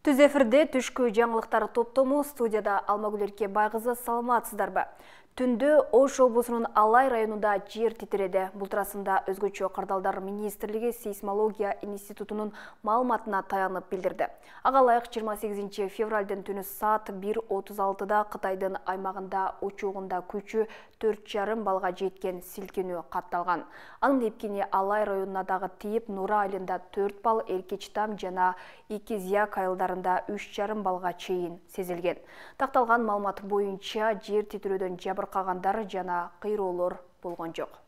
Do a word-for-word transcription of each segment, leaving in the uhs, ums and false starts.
Түз эфирде түшкү жаңылыктар топтому студияда Алмагүл Эркебай кызы, саламатсыздарбы? Түндө Ош облусунун Алай районунда жер титиреди. Бул туурасында өзгөчө кардалдар министрлиги сейсмология институтунун маалыматына таянып билдирди. Ага ылайык жыйырма сегизинчи февралдын түнү саат бир отуз алтыда Кытайдын аймагында учугунда күчү төрт жарым балга жеткен силкинүү катталган. Анын эпкени Алай районуна дагы тийип, Нура айылында төрт балл, Эркечтам жана Икизяк айылдарында үч жарым балга чейин сезилген. Такталган маалымат боюнча жер титирөөдөн жабыркагандар жана кыйроолор болгон жок.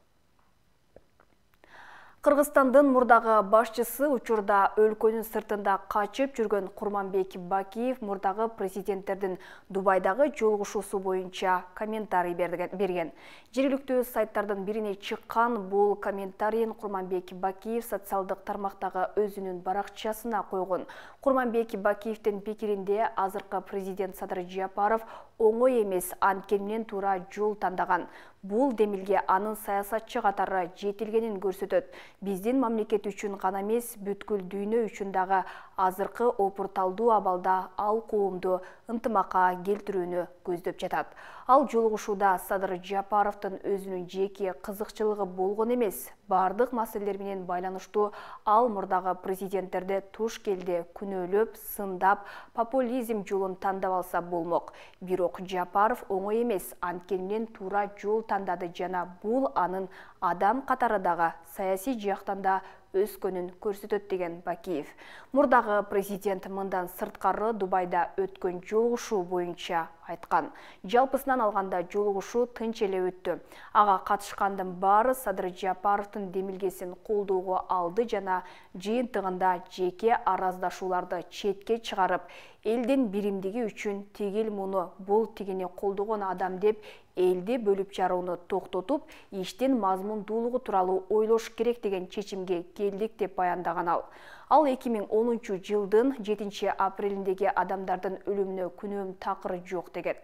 Кыргызстандын мурдагы башчысы учурда өлкөнүн сыртында качып жүргөн Курманбек Бакиев мурдагы президенттердин Дубайдагы жолугушуусу боюнча комментарий берген. Жергиликтүү сайттардын бирине чыккан бул комментарийин Курманбек Бакиев социалдык тармактагы өзүнүн баракчасына койгон. Курманбек Бакиевдин пикиринде азыркы президент Садыр Жапаров оңой эмес, анткени туура жол тандаган. Бул демилге анын саясатчы катары жетилгенин көрсөтөт. Биздин мамлекет үчүн гана эмес, бүткүл дүйнө үчүн дагы азыркы опурталдуу абалда ал коомду ынтымакка келтирүүнү көздөп жатат. Ал жолугушууда Садыр Жапаровдун өзүнүн жеке кызыкчылыгы болгон эмес, бардык маселелер менен байланыштуу ал мурдагы президенттерди туш келде күнөөлөп, сындап, популизм жолун тандап алса болмок. Бирок Жапаров оңой эмес, анткени туура жол тандады жана бул анын адам катары дагы саясий жактан да өскөнүн көрсөтөт деген Бакиев. Мурдагы президент мындан сырткары Дубайда өткөн жолугушуу боюнча айткан. Жалпысынан алганда жолугушуу тынч эле өттү. Ага катышкандын баары Садыр Жапаровдун демилгесин колдоого алды жана жыйынтыгында жеке араздашууларды четке чыгарып, элдин биримдиги үчүн тигил муну бул тигини колдогон адам деп элди бөлүп жарууну токтотуп, иштин мазмундуулугу тууралуу ойлош керек деген чечимге келдик деп баяндаган ал. Ал эки миң онунчу жылдын жетинчи апрелиндеги адамдардын өлүмүнө күнөөм такыр жок деген.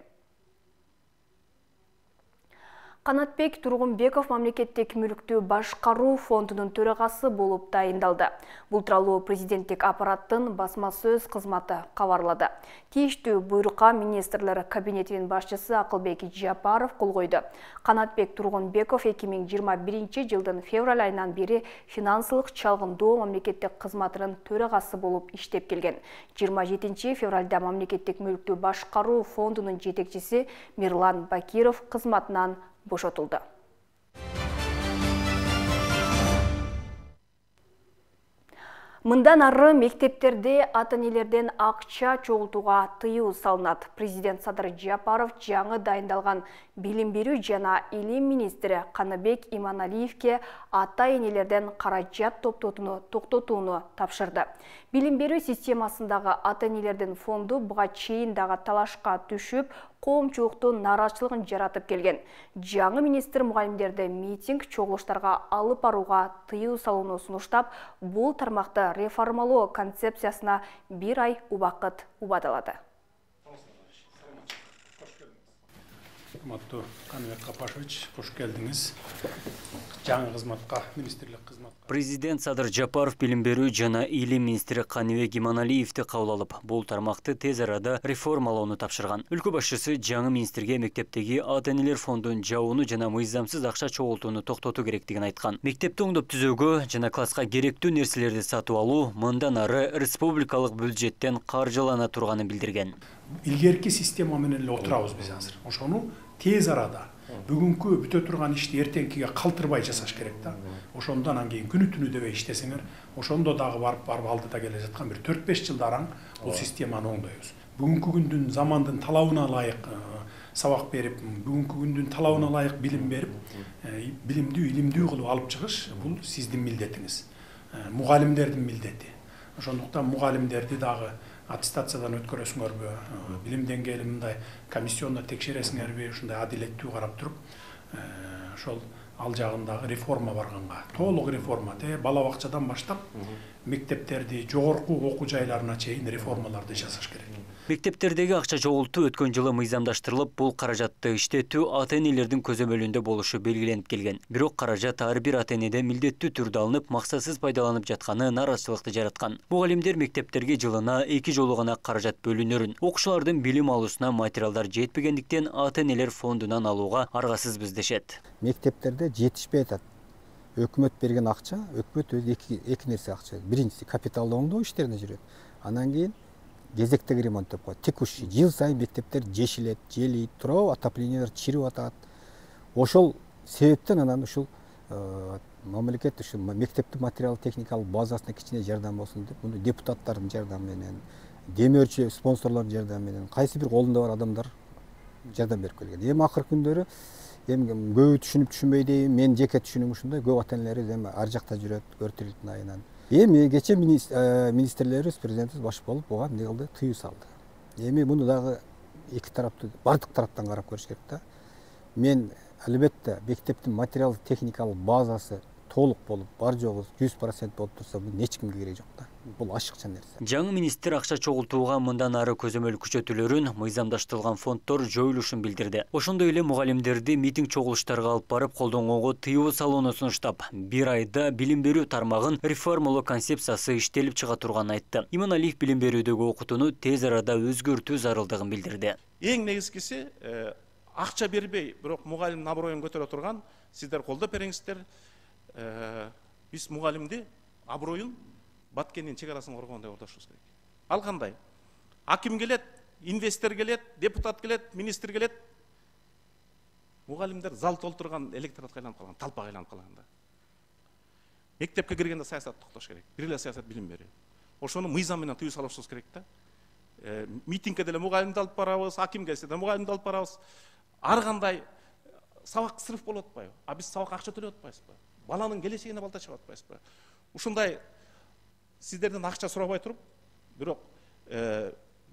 Канатбек Тургунбеков мамлекеттик мүлктү башкаруу фондунун төрагасы болуп дайындалды. Бул тууралуу президенттик аппараттын басма сөз кызматы кабарлады. Тийиштүү буйрукка министрлер кабинетинин башчысы Акылбек Жапаров кол койду. Канатбек Тургунбеков эки миң жыйырма биринчи жылдын февраль айынан бери финансылык чалгындоо мамлекеттик кызматынын төрагасы болуп иштеп келген. жыйырма жетинчи февралда мамлекеттик мүлктү башкаруу фондунун жетекчиси Мирлан Бакиров кызматынан бошотулду. Мындан ары мектептерде ата-энелерден акча чогултууга тыюу салынат. Президент Садыр Жапаров жаңы дайындалган билим берүү жана илим министри Каныбек Иманалиевке ата-энелерден каражат топтотууну токтотууну тапшырды. Билим берүү системасындагы ата-энелердин фонду буга чейин дагы талашка түшүп, коомчулуктун нааразычылыгын жаратып келген. Жаңы министр мугалимдерди митинг, чогулуштарга алып барууга тыюу салууну сунуштап, бул тармакты реформалоо концепциясына бир ай убакыт убадалады. Урматтуу Каныбек Капашевич, кош келдиңиз. Жаңы кызматка, министрлик кызматка. Президент Садыр Жапаров билим берүү жана илим министри Каныбек Иманалиевди кабыл алып, бул тармакты тез арада реформалоону тапшырган. Өлкө башчысы жаңы министрге мектептеги ата-энелер фондун жабууну жана мыйзамсыз акча чогултууну токтотуу керектигин айткан. Мектепти оңдоп түзөөгө жана класска керектүү нерселерди сатып алуу мындан ары республикалык бюджеттен каржылана турганын билдирген. Илгерки система менен эле отурабыз биз азыр. Ошону тез арада бүгүнкү бүтө турган ишти эртеңкиге калтырбай жасаш керек да. Ошондон анан кийин күнү түнү дебей иштесеңер, ошондо дагы барып барып алдыда келе жаткан бир төрт беш жылдараң бул системаны оңдойбуз. Бүгүнкү күндүн замандын талабына ылайык сабак берип, бүгүнкү күндүн талабына ылайык билим берип, билимдүү, илимдүү кылып алып чыгыш бул сиздин милдетиңиз. Мугалимдердин милдети. Ошондуктан мугалимдерди дагы аттестациядан өткөрөсүңөрбү, билим деңгээли мындай комиссионно текшересиңерби, ушундай адилеттүү карап туруп, ошол ал жагындагы реформа барганга, толук реформа, те бала бакчадан баштап мектептерди, жогорку окуу жайларына чейин реформаларды жасаш керек. Мектептердеги акча чогултуу өткөн жылы мыйзамдаштырылып, бул каражатты иштетүү ата-энелердин көзөмөлүндө болушу белгиленип келген. Бирок каражат ар бир ата-энеде милдеттүү түрдө алынып, максатсыз пайдаланып жатканы нааразычылыкты жараткан. Мугалимдер мектептерге жылына эки жолу гана каражат бөлүнөрүн, окуучулардын билим алуусуна материалдар жетпегендиктен ата-энелер фондунан алууга аргасызбыз дешет. Мектептерде жетишпей атат. Өкмөт берген акча, өкмөт өзү эки, эки нерсе акча. Биринчиси капиталды оңдоо иштерине жүрөт. Анан кийин кезектеги ремонт деп коет. Текущий жыл сайын мектептер жешилет, желийт, туурабы, отоплениялар чирип атат. Ошол себептен анан ушул мамлекет ушул мектептин материал техникалык базасына кичине жардам болсун деп, муну депутаттардын жардамы менен, демөөрчү спонсорлордун жардамы менен, кайсы бир колунда бар адамдар жардам берип келген. Эми акыркы күндөрү эми көбү түшүнүп түшүнбөй дейм, мен жеке түшүнүм ушундай, көп ата-энелер эми ар жакта жүрөт, көртүлүктүн айынан. Эми кече министрлерибиз, президентибиз баш болуп буга эмне кылды? Тыюу салды. Эми муну дагы эки тараптуу, бардык тараптан карап көрүш керек да. Мен албетте мектептин материалдык техникалык базасы толук болуп, бар жогу жүз процент болуп турса, бул эч кимге кереги жок да. Бул ашыкча нерсе. Жаңы министр акча чогултууга мындан ары көзөмөл күчөтүүлөрүн, мыйзамдаштырылган фонддор жоюлушун билдирди. Ошондой эле мугалимдерди митинг чогулуштарга алып барып колдонгонго тыюу салууну сунуштап, бир айда билим берүү тармагын реформалоо концепциясы иштелип чыга турганын айтты. Иманалиев билим берүүдөгү окутууну тез арада өзгөртүү зарылдыгын билдирди. Эң негизгиси акча бербей, бирок мугалимдин аброюн көтөрө турган сиздер колдоп бериңиздер. Биз мугалимди аброюн Баткендин чек арасын коргогондой ордошубуз керек. Ал кандай? Аким келет, инвестор келет, депутат келет, министр келет. Мугалимдер зал толтурган электоратка айланып калган, талпага айланып калган да. Мектепке киргенде саясат токтош керек. Бир эле саясат билим берүү. Ошону мыйзам менен тыюу салышыбыз керек да. Митингке деле мугалимди алып барабыз, аким келсе да мугалимди алып барабыз. Ар кандай сабак сырыф болуп атпайбы? А биз сабак акча төлөп атпайбызбы? Баланын келечегине балта чыгып атпайбызбы? Ушундай сиздерден акча сурабай туруп, бирок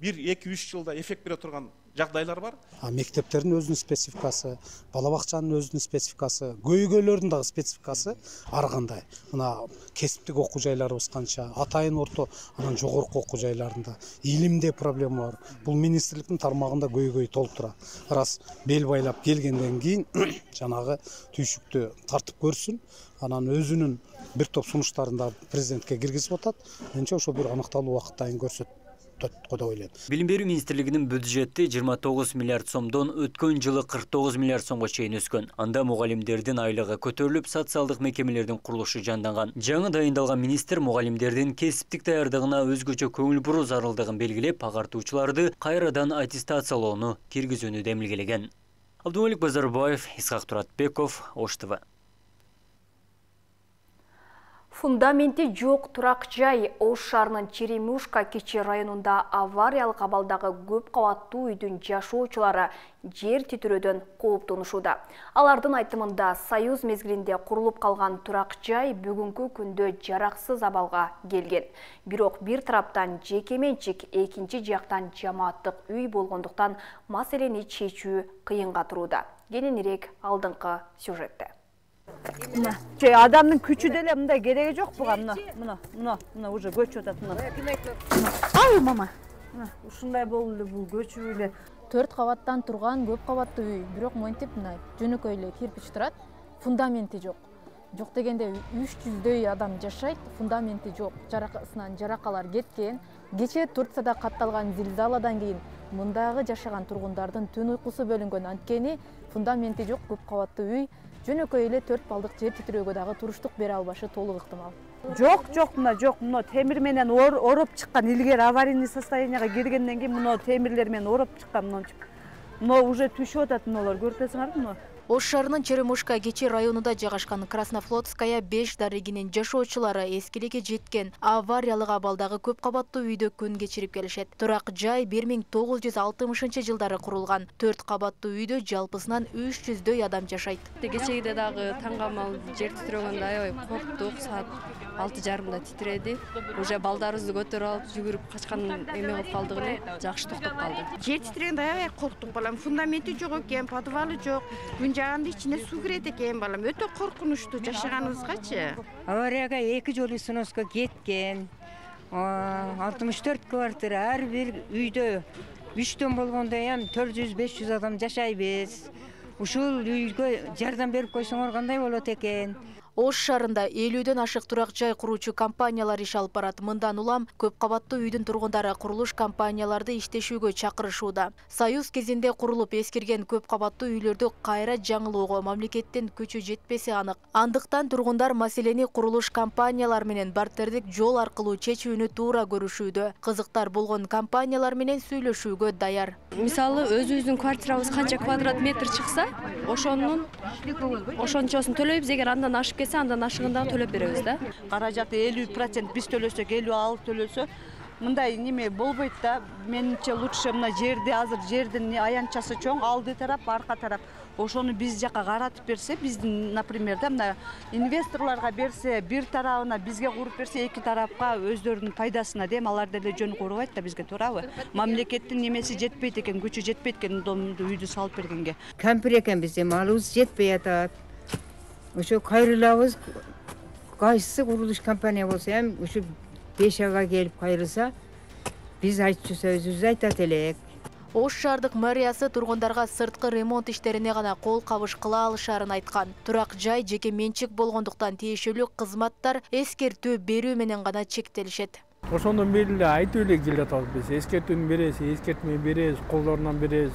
бир эки үч жылда эффект бере турган жагдайлар бар. Мектептердин өзүнүн спецификасы, бала бакчанын өзүнүн спецификасы, көйгөйлөрдүн дагы спецификасы ар кандай. Мына кесиптик окуу жайларыбыз канча, атайын орто, анан жогорку окуу жайларында илимде проблема бар. Бул министрликтин тармагында көйгөй толуп турат. Раз бел байлап келгенден кийин жанагы түйшүктү тартып көрсүн, анан өзүнүн бир топ сунуштарын да президентке киргизип атат. Менимче ошо бир аныкталуу убакыттайын көрсөт. Билим берүү министрлигинин бюджети жыйырма тогуз миллиард сомдон өткөн жылы кырк тогуз миллиард сомго чейин өскөн. Анда мугалимдердин айлыгы көтөрүлүп, социалдык мекемелердин курулушу жанданган. Жаңы дайындалган министр мугалимдердин кесиптик даярдыгына өзгөчө көңүл буруу зарылдыгын белгилеп, агартуучуларды кайрадан аттестациялоону киргизүүнү демилгелеген. Абдумалик Базарбаев, Исхак Туратбеков, Ош ТВ. Фундаменти жок турак жай Ош шаарынын Черемушка кичи районунда авариялык абалдагы көп кабаттуу үйдүн жашоочулары жер титирөөдөн кооптонушууда. Алардын айтымында Союз мезгилинде курулуп калган турак жай бүгүнкү күндө жараксыз абалга келген. Бирок бир тараптан жеке менчик, экинчи жактан жамааттык үй болгондуктан маселени чечүү кыйынга турууда. Кененирээк алдыңкы сюжетте. Че адамдын күчү деле мындай кереги жок буга. Мына, мына, мына, мына уже көчүп атат мына. Ай мама. Мына ушундай болду эле бул көчүп эле. Төрт кабаттан турган көп кабаттуу үй, бирок монтип мына жөнөкөй эле кирпич турат. Фундаменти жок. Жок дегенде үч жүздөй адам жашайт, фундаменти жок. Жаракасынан жаракалар кеткен. Кечээ Турцияда катталган зилзаладан кийин мындагы жашаган тургундардын түн уйкусу бөлүнгөн, анткени фундаменти жок көп кабаттуу үй. Жөнөкөй эле төрт балдык жер титирөөгө дагы туруштук бере албашы толук ыктымал. Жок, жок, мына жок, мына темир менен ороп чыккан, илгери аварийный состоянияга киргенден кийин мына темирлер менен ороп чыккан, мынча. Мына уже түшүп атат мыналар, көрүп атасыңарбы мына? Ош шаарынын Черемушка кечи районунда жайгашкан Краснофлотская беш дарегинин жашоочулары эскиликке жеткен авариялык абалдагы көп кабаттуу үйдө күн кечирип келишет. Турак жай бир миң тогуз жүз алтымышынчы жылдары курулган. төрт кабаттуу үйдө жалпысынан үч жүздөй адам жашайт. Кечегиде дагы таңгамал жер титирөгөндө аябай корктук, саат алты жарымда титиреди. Уже балдарыбызды көтөрүп алып жүгүрүп качкан эме болуп калдык эле, жакшы токтоп калды. Жер титирегенде аябай корктук балам. Фундаменти жок экен, подвалы жок. Жаганда ичине суу кирет экен балам. Өтө коркунучтуу жашаганыбызгачы. Аварияга эки жолу сноско кеткен. алтымыш төрт квартира, ар бир үйдө үчтөн болгондо эми төрт жүз беш жүз адам жашайбыз. Ушул үйгө жардам берип койсоңор кандай болот экен? Ош шаарында элүүдөн ашык турак жай куруучу компаниялар иш алып барат. Мындан улам көп кабаттуу үйдүн тургундары курулуш компанияларды иштешүүгө чакырышууда. Союз кезинде курулуп эскирген көп кабаттуу үйлөрдү кайра жаңылоого мамлекеттин күчү жетпеси анык. Андыктан тургундар маселени курулуш компаниялар менен бартердик жол аркылуу чечүүнү туура көрүшүүдө. Кызыктар болгон компаниялар менен сүйлөшүүгө даяр. Мисалы, өзүбүздүн квартирабыз канча квадрат метр чыкса, ошонун ошончосун төлөйбүз. Эгер андан ашып кетсе, андан ашыгында төлөп беребиз да. Каражаты элүү процент биз төлөсөк, элүү ал төлөсө, мындай неме болбойт да. Менимче лучше мына жерди, азыр жердин аянтчасы чоң, алды тарап, арка тарап. Ошону биз жака каратып берсе, биздин, например, да, мына инвесторлорго берсе, бир тарабына бизге куруп берсе, эки тарапка өздөрүнүн пайдасына дем, алар деле жөн курбайт да бизге, туурабы? Мамлекеттин немеси жетпейт экен, күчү жетпейт экен, домду үйдү салып бергенге. Кампир экенбиз, эми алыбыз жетпей атат. Ошо кайрылабыз, кайсы курулуш компания болсо эми ушу беш айга келип кайрылса, биз айтчу сөзүбүздү айтат элек. Ош шаардык мэриясы тургундарга сырткы ремонт иштерине гана кол кабыш кыла алышарын айткан. Турак жай жеке менчик болгондуктан тиешелүү кызматтар эскертүү берүү менен гана чектелишет. Ошондон бери эле айтып эле келатабыз биз. Эскертүүнү беребиз, эскертме беребиз, колдорунан беребиз,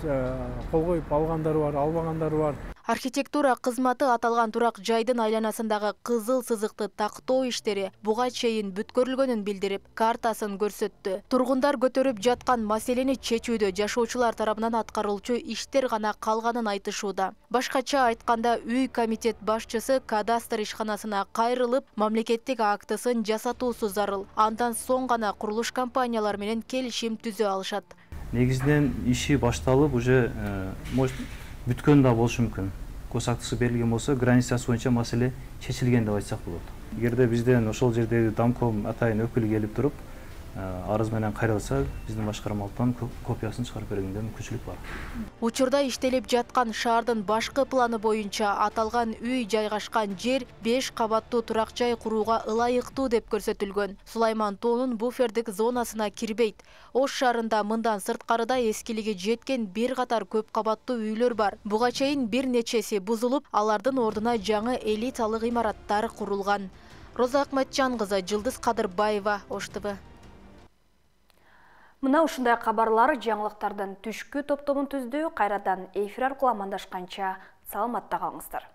кол коюп алгандар бар, албагандар бар. Архитектура кызматы аталган турак жайдын айланасындагы кызыл сызыкты тактоо иштери буга чейин бүткөрүлгөнүн билдирип, картасын көрсөттү. Тургундар көтөрүп жаткан маселени чечүүдө жашоочулар тарабынан аткарылчу иштер гана калганын айтышууда. Башкача айтканда, үй комитет башчысы кадастр ишканасына кайрылып, мамлекеттик актысын жасатуусу зарыл. Андан соң гана курулуш компаниялар менен келишим түзө алышат. Негизинен иши башталып, уже может бүткөн да болушу мүмкүн. Госактысы берилген болсо, границасы боюнча маселе чечилген деп айтсак болот. Эгерде бизден ошол жердеги домком атайын өкүлү келип туруп, арыз менен кайрылса, биздин башкармалыктан копиясын чыгарып бергенге мүмкүнчүлүк бар. Учурда иштелип жаткан шаардын башкы планы боюнча аталган үй жайгашкан жер беш кабаттуу турак жай курууга ылайыктуу деп көрсөтүлгөн. Сулайман тоонун буфердик зонасына кирбейт. Ош шаарында мындан сырткарыда эскилиги жеткен бир катар көп кабаттуу үйлөр бар. Буга чейин бир нечеси бузулуп, алардын ордуна жаңы элиталык имараттар курулган. Роза Акматжан кызы, Жылдыз Кадырбаева, Ош тэ вэ. Мына ушундай кабарлар жаңылыктардын түшкү топтомун түздү. Кайрадан эфир аркылуу амандашканча саламатта калыңыздар.